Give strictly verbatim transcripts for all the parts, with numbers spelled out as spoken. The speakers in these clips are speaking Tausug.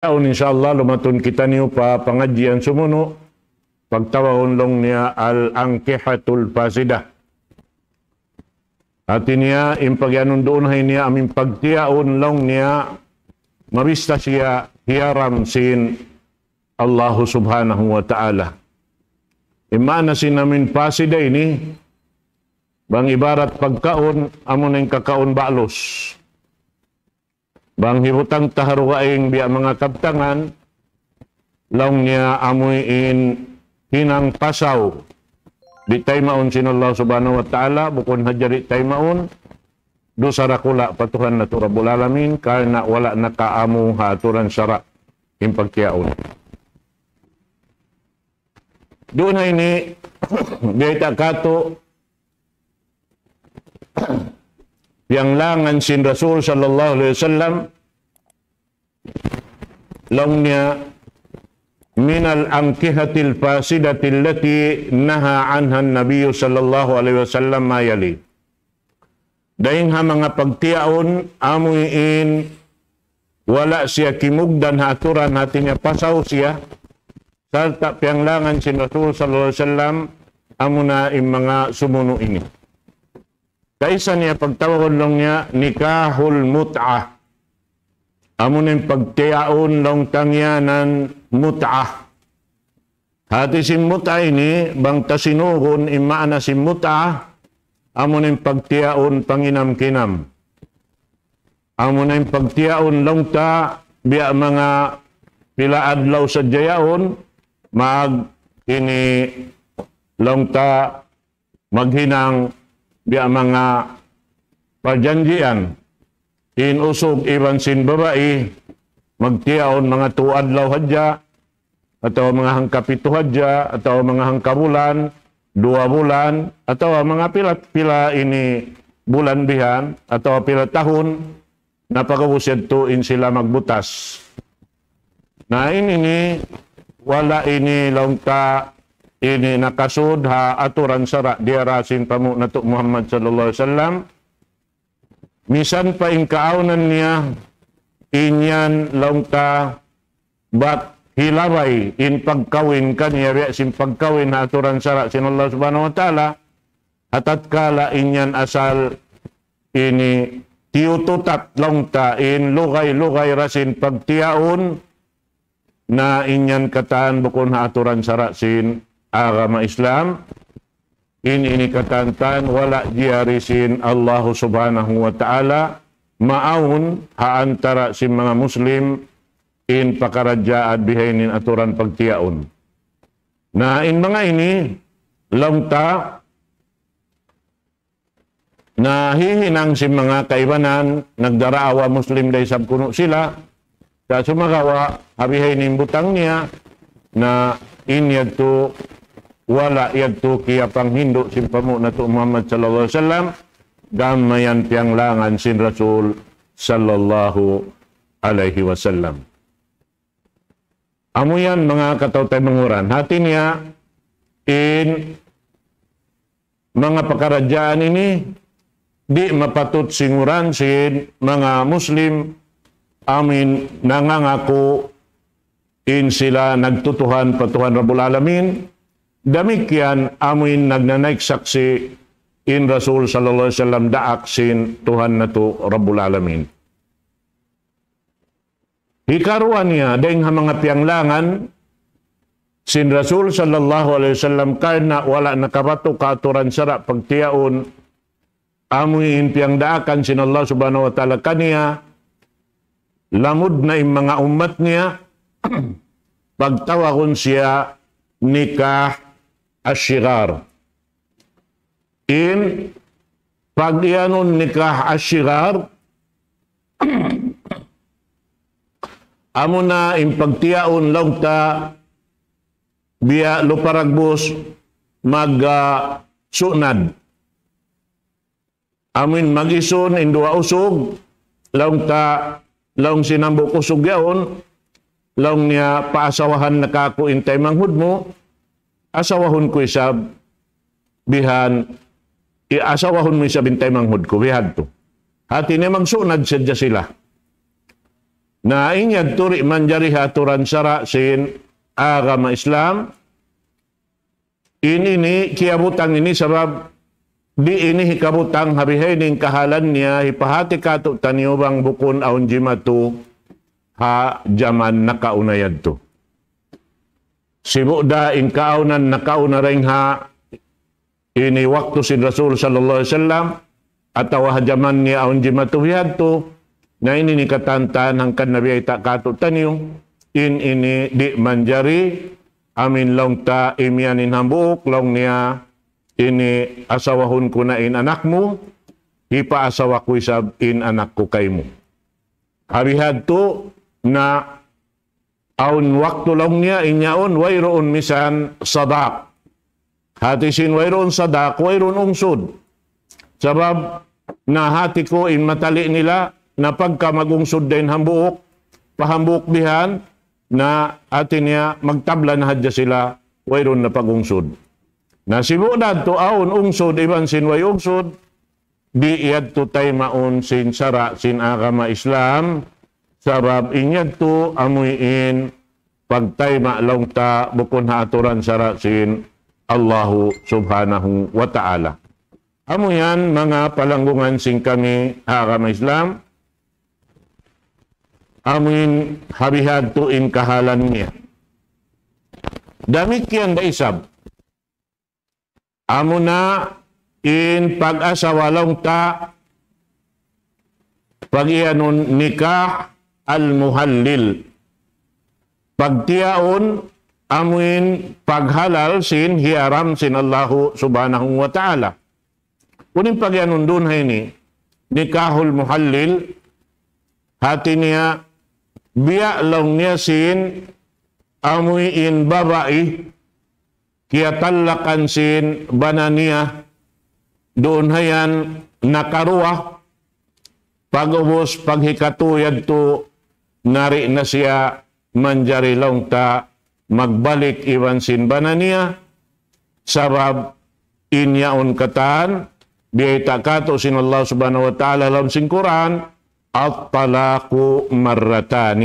Yaun, insya Allah, lumatun kitaniyu pa pangadjian sumunu', pagtawagun laung niya al-ankihatul fasida. Hati niya, in pagiyanun duun ha ini, amu in pagtiyaun laung niya, mabista siya hiyaram sin Allahu Subhanahu wa Ta'ala. In maana sin amu in fasida ini, bang ibarat pagkaun, amu na in kakaun balus. Bang hibutang ta ha dugaing biya' manga kabtangan, laung niya amu in hinang pasaw. Di' taymaun sin Allah Subhanahu wa Ta'ala, bukun hadja di' taymaun, dusa dakula' pa Tuhan natu' Rabbul Alamin, karna' wala' nakaamu ha aturan sara' in pagtiyaun. Duun ha ini, biyayta' katu', piyanglangan sin Rasul sallallahu alayhi wasallam, laung niya, من الأنكحة الفاسدة التي نهى عنها النبي صلى الله عليه وسلم ما يلي. Dayn ha manga pagtiyaun, amu in wala' siya kimugdan ha aturan, hati niya pasaw siya, sarta' piyanglangan sin Rasul sallallahu alayhi wasallam, amu na in manga sumunu' ini. Kaisa niya pagtawagun laung niya nikahul mut'ah. Amu na in pagtiyaun laung ta ngiyanan mut'ah. Hati sin mut'ah ini, bang ta sinugun in maana sin mut'ah, amu na in pagtiyaun panginam-kinam. Amu na in pagtiyaun laung ta, biya' manga pila adlaw sadja yaun, mag ini laung ta maghinang biya' manga parjanjian. In usug iban sin babai, magtiyaun manga tu adlaw hadja, atawa manga hangka pitu hadja, atawa manga hangka bulan, duwa bulan, atawa manga pila, pila ini bulan bihan, atawa pila tahun, na pag'ubus yadtu in sila magbutas. Na ini ini, wala' ini laung ta ini nakasud ha aturan sara' diyara sin panghu' natu' Muhammad sallallahu alayhi wasallam. Misan pa in kaawnan niya, in yan laung ta bat hilabay in pagkawin kaniya biya' sin pagkawin ha aturan sara' sin Allah Subhanahu wa Ta'ala, ha tatkala in yan asal ini tiyututat laung ta in lugay-lugay da sin pagtiyaun, na in yan katan bukun ha aturan sara' sin agama Islam. In ini katan-katan wala' jiyari sin Allahu Subhanahu wa Ta'ala, maawn ha antara sin manga Muslim in pakaradjaan bihaini in aturan pagtiyaun. Na in manga ini, laung ta, na hihinang sin manga kaibanan, nagdaraawa Muslim da isab kunu' sila, sa' sumagawa', ha bihaini in butang niya, na in yadtu, wala' yadtu kiyapanghindu' sin panghu' natu' Muhammad sallallahu alayhi wasallam, gam mayan piyanglangan sin Rasul sallallahu alayhi wasallam. Amu yan manga kataw-taymanghuran. Hati niya, in manga pakaradjaan ini, di' mapatut singuran sin manga Muslim, amu in nangangaku in sila nagtutuhan pa Tuhan Rabbul Alamin. Damikkiyan amu in nagnanaik saksi' in Rasul sallallahu alayhi wasallam daak sin Tuhan natu' Rabbul Alamin. Hikaruwa niya, dayn ha manga piyanglangan sin Rasul sallallahu alayhi wasallam karna' wala' nakabatuk ha aturan sara' pagtiyaun, amu in piyangdaakan sin Allah Subhanahu wa Ta'ala kaniya, lamud na in manga ummat niya, pagtawagun siya nikah ashigar. In pag-iyanun nikah ashigar, amuna in pagtiyaun laung ta biya' lupa ragbus mag, ah, sunad. Amuin mag-isun in duwa usug, laung ta, laung sin hambuuk usug yaun, laung niya paasawahan na kāku' in taymanghud mu, asawahun ku isab bihan, i-, asawahun mu isab in taymanghud ku, bihadtu. Hati niya magsunad sadja sila. Na in yadtu di' manjari ha aturan sara' sin agama Islam. In ini kiyabutang ini sabab di' ini hikabutang ha bihaini in kahalan niya hipahati kātu'niyu bang bukun awn jimatu ha jaman nakauna yadtu. Sibu' da in kaawnan nakauna dayn ha ini waktu sin Rasul sallallahu alayhi wasallam, atawa ha jaman niya awn jimatu bihadtu, na ini in katantan hangkan na biyayta' kātu'niyu, in ini di' manjari, amu in laung ta imiyan in hambuuk, laung niya ini asawahun ku na in anak mu, hipaasawa ku isab in anak ku kaymu. Ha bihadtu na awn waktu laung niya in yaun wayruun misan sadaq. Hati sin wayruun sadaq, wayruun ungsud. Sabab na hati ku in matali' nila na pagka mag-ungsud da in hambuuk, pa hambuuk bihan, na hati niya magtabla na hadja sila, wayruun na pag-ungsud. Na sibu' da tu awn ungsud iban sin way ungsud, di' yadtu taymaun sin sara' sin agama Islam, sabab in yadtu amuin pagtayma' laung ta bukun ha aturan sara' sin Allahu Subhanahu wa Ta'ala. Amu yan manga palanggungan sin kami ha agama Islam, amuin ha bihadtu in kahalan niya. Damikkiyan da isab. Amuna in pag-asawa laung ta, pag-iyanun nikah al-muhallil. Pagtiyaun amuin paghalal sin hiyaram sin Allahu Subhanahu wa Ta'ala. Unu in pag-iyanun duun ha ini, nikahul muhallil, hati niya, biya' laung niya sin amuin babai, kiyatallakan sin bana niya, duun ha yan nakaruwa, pag'ubus paghikatu yadtu, na di' na siya manjari laung ta magbalik iban sin bana niya, sabab in yaun katan, biyayta' kātu' sin Allah Subhanahu wa Ta'ala ha lawm sin Qur'an, الطلاق مرتان.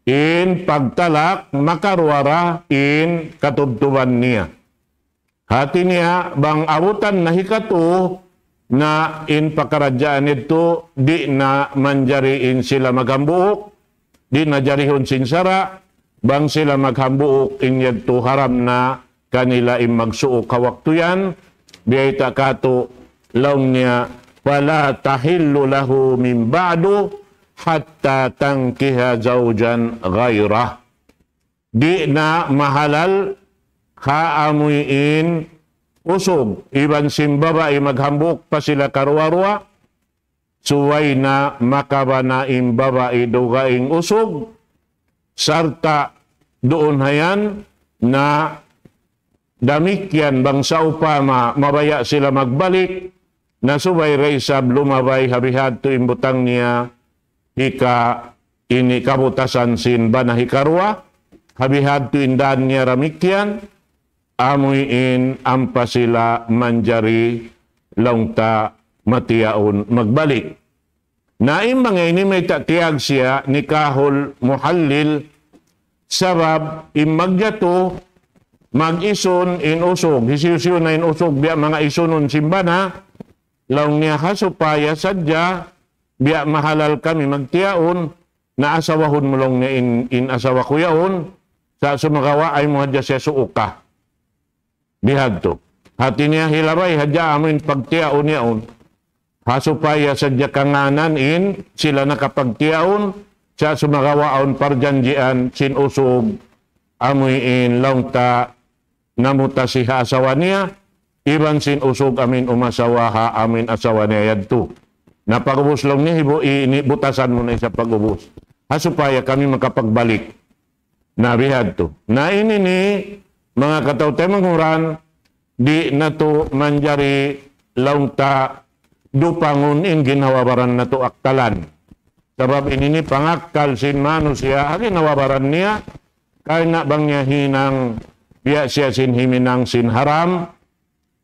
In pagtalak makaruwa ra in katubtuban niya. Hati niya, bang abutan na hikatu, na in pakaradjaan yadtu, di' na manjari in sila maghambuuk, di' na jarihun sin sara', bang sila maghambuuk in yadtu haram na kanila in magsuuk ha waktu yan, biyayta' kātu' laung niya, فلا تحل له من بعد حتى تنكح زوجا غيره. Di' na mahalal ha amuin usug, iban sin babai maghambuuk pa sila karuwa-ruwa, subay na makabana in babai dugaing usug, sarta' duun ha yan na damikkiyan bang sawpama mabaya' sila magbalik, na subay da isab lumabay ha bihadtu in butang niya, hika ini kabutasan sin bana hikaruwa, ha bihadtu in daan niya damikkiyan, amuin ampa sila manjari laung ta matiyaun magbalik. Na in manga ini mayta' tiyawag siya nikahul muhallil, sabab in magjatu, mag-isun in usug, hisiyu-siyu na in usug, biya' manga isunun sin bana, laung niya ha supaya sadja, biya' mahalal kami magtiyaun, na asawahun mu laung niya in, in asawa ku yaun, sa' sumagawa' ayaw mu hadja siya suuka. Bihadtu. Hati niya hilabay hadja amuin pagtiyaun yaun. Ha supaya sadja kangānan in sila nakapagtiyaun, sa' sumagawa' awn parjanjian sin usug, amuin laung ta namutasi ha asawa niya, iban sin usug amuin umasawa ha amuin asawa niya yadtu. Na pag'ubus laung niya hibu-, ini butasan mu na isab pag'ubus. Ha supaya kami makapagbalik. Na bihadtu. Na ini ini, manga kataw-taymanghuran, di' natu' manjari laung ta dupangun in ginhawa-baran natu' akkalan. Sabab ini ini pangakkal sin manusiya', ha ginhawa-baran niya, karna' bang niya hinang biya' siya sin himinang sin haram,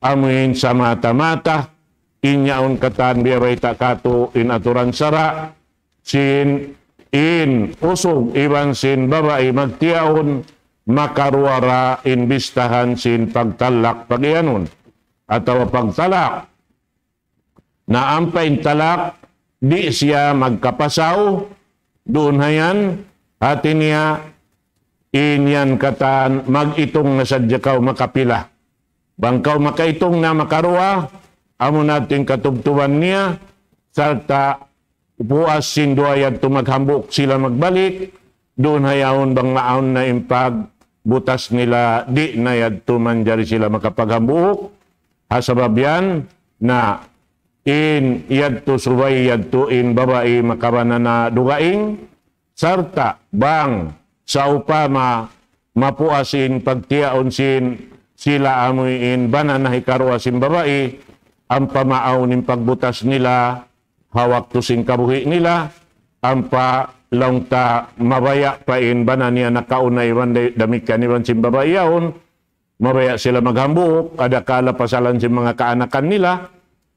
amuin samata-mata, in yaun katan biya' bayta' katu' in aturan sara', sin in usug iban sin babai magtiyaun, makaruwa ra in bistahan sin pagtalak pagiyanun atawa pagtalak. Na ampa in talak, di' siya magkapasaw, duun hayan, hati niya, in yan katan, mag-itung na sadja kaw makapila. Bang kaw makaitung na makaruwa, amu na in katubtuban niya, sarta' puas sin duwa yadtu maghambuuk sila magbalik, duun hayaun bang maawn na in pagbutas nila, di' na yadtu manjari sila makapaghambuuk, ha sabab yan na in yadtu subay yadtu in babai makabana na dugaing, sarta' bang sawpama mapuas in pagtiyaun sin sila amuin bana na hikaruwa sin babai, ampa maawn in pagbutas nila ha waktu sin kabuhi' nila, ampa laung ta mabaya' pa in bana niya nakauna iban da-, damikkiyan iban sin babai yaun, mabaya' sila maghambuuk, adakala pasalan sin manga kaanakan nila,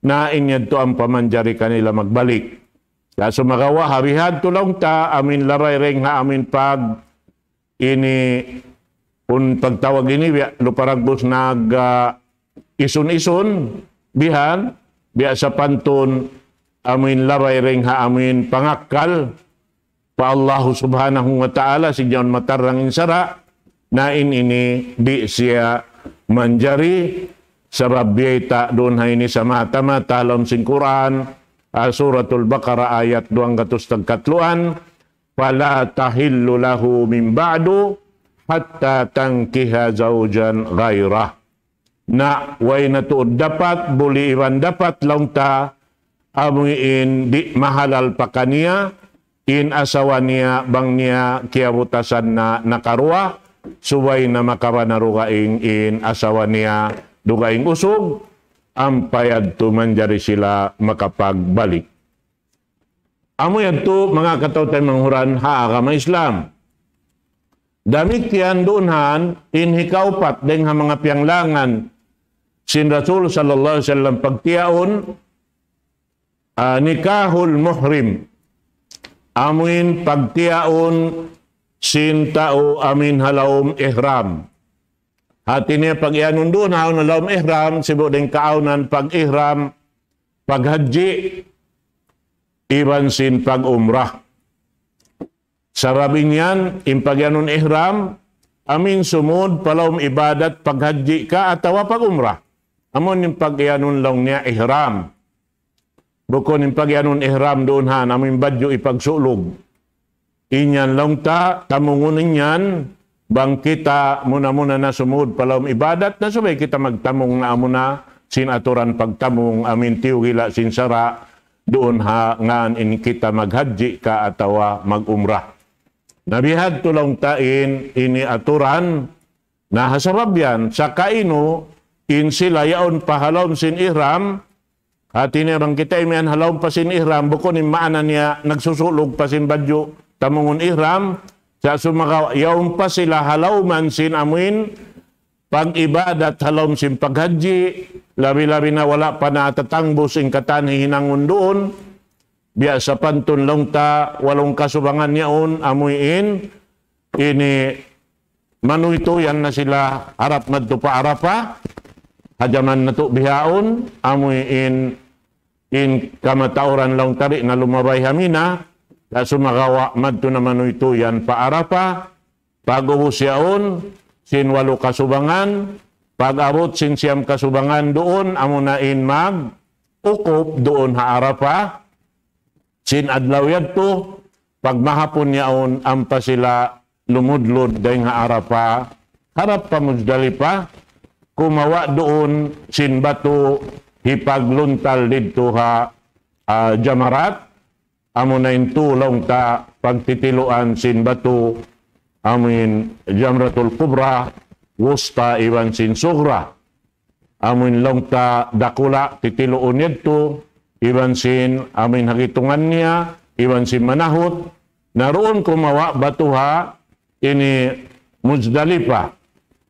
na in yadtu ampa manjari kanila magbalik. Sa' sumagawa' ha bihadtu laung ta, amuin labay dayn ha amuin pag ini, kun pagtawag ini, biya' lupa dagbus nag, ah, isun-isun, bihan, biya' sapantun, amuin labay dayn ha amuin pangakkal pa Allahu Subhanahu wa Ta'ala, sin yaun matarang in sara', na in ini di' siya manjari, sabab biyayta' duun ha ini samata-mata ha lawm sin Qur'an, ah, Suratul Baqarah ayat duwanggatus tagkatluan, فلا تحل له من بعد حتى تنكح زوجا غيره. Na, way na tuud dapat, buli iban dapat laung ta, amuin di' mahalal pa kaniya, in asawa niya, bang niya kiyabutasan na nakaruwa, subay na makabana dugaing in asawa niya, dugaing usug, ampa yadtu manjari sila makapagbalik. Amu yadtu manga kataw-taymanghuran ha agama Islam. Damikkiyan duun han in hikaupat dayn ha manga piyanglangan sin Rasul sallallahu alayhi wasallam pagtiyaun, ah, nikahul muhrim. Amuin pagtiyaun sin tau amuin ha lawm ihram. Hati niya pagiyanun duun ha lawm ihram, sibu' dayn kaawnan pag-ihram, paghajji, iban sin pag-umrah. Sabab in yan, in pagiyanun ihram, amuin sumud pa lawm ibadat paghajji ka atawa pag-umrah. Amu in pagiyanun laung niya ihram. Bukun in pagiyanun ihram duun han, amuin badju' ipagsulug. In yan laung ta, tamungun in yan, bang kita muna-muna na sumud pa lawm ibadat na subay kita magtamung na amuna sin aturan pagtamung amuin tiyugila sin sara' duun ha ngan in kita maghajji ka atawa mag-umrah. Na bihadtu laung ta in ini aturan, na ha sabab yan, sa' kainu in sila yaun pa ha lawm sin ihram, hati niya bang kita imiyan ha lawm pa sin ihram, bukun in maana niya nagsusulug pa sin badju' tamungun ihram, sa' sumagawa' yaun pa sila ha lawman sin amuin pag-ibadat ha lawm sin paghajji, labi-labi na wala' pa natatangbus in katan hihinangun duun, biya' sapantun laung ta walung kasubangan yaun amuin ini manuytuyan na sila harap madtu pa Arafah, ha jaman natu' bihaun, amuin in kamatauran laung ta di' na lumabay ha Mina, sa' sumagawa' madtu na manuytuyan pa Arafah, pag-ubus yaun, sin walu kasubangan, pag-abut sin siyam kasubangan duun, amuna in mag-ukuf duun ha Arafah, sin adlaw yadtu, pagmahapun yaun ampa sila lumudlud dayn ha Arafah, harap pa Muzdalifah, kumawa' duun sin batu hipagluntal didtu ha, ah, jamarat, amuna in tū laung ta pagtitiluan sin batu, amuin Jamratul Kubra, Wusta iban sin Sugra. Amuin laung ta dakula' titiluun yadtu, iban sin amuin hagitungan niya, iban sin manahut, na duun kumawa' batu ha ini Muzdalifah.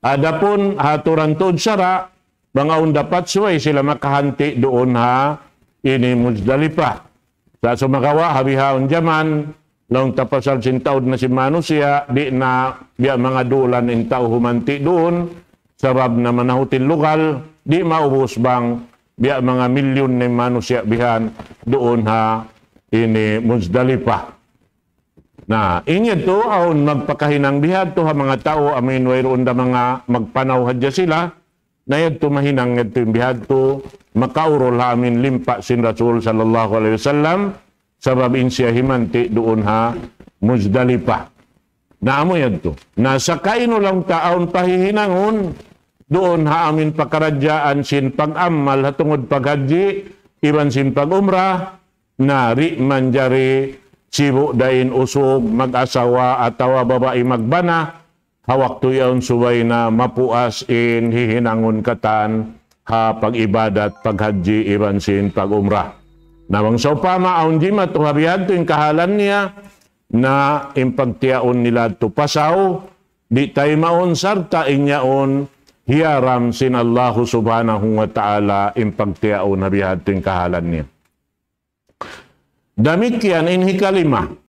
Adapun ha aturan tuud sara', bang awn dapat subay sila makahanti' duun ha ini Muzdalifah. Sa' sumagawa' ha bihaun jaman, Laung ta pasal sin taud na sin manusiya', di' na biya' manga dulan in tau humanti' duun, sabab na manahutil lugal, di' maubus bang biya' manga milyun na in manusiya' bihan duun ha ini Muzdalifah. Na, in yadtu, awn magpakahinang bihadtu ha manga tau, amin wayruun da manga magpanaw hadja sila, na yadtu mahinang yadtu in bihadtu, makaurul ha amin limpa' sin Rasul sallallahu alayhi wasallam, sabab in siya himanti' duun ha Muzdalifah. Na amu yadtu. Na sakainu laung ta awn pahihinangun, duun ha amin pakaradjaan sin pag-amal ha tungud paghajji, iban sin pag-umrah, na di' manjari sibu' da in usug mag-asawa atawa babai magbana, ha waktu yaun subay na mapuas in hihinangun katan ha pag-ibadat, paghajji, iban sin pag-umrah. Na bang sawpama awn jimatu ha bihadtu in kahalan niya, na in pagtiyaun nila yadtu pasaw, di' taymaun sarta' in yaun hiyaram sin Allahu subhanahu wa ta'ala in pagtiyaun ha bihadtu in kahalan niya. Damikkiyan in hikalima.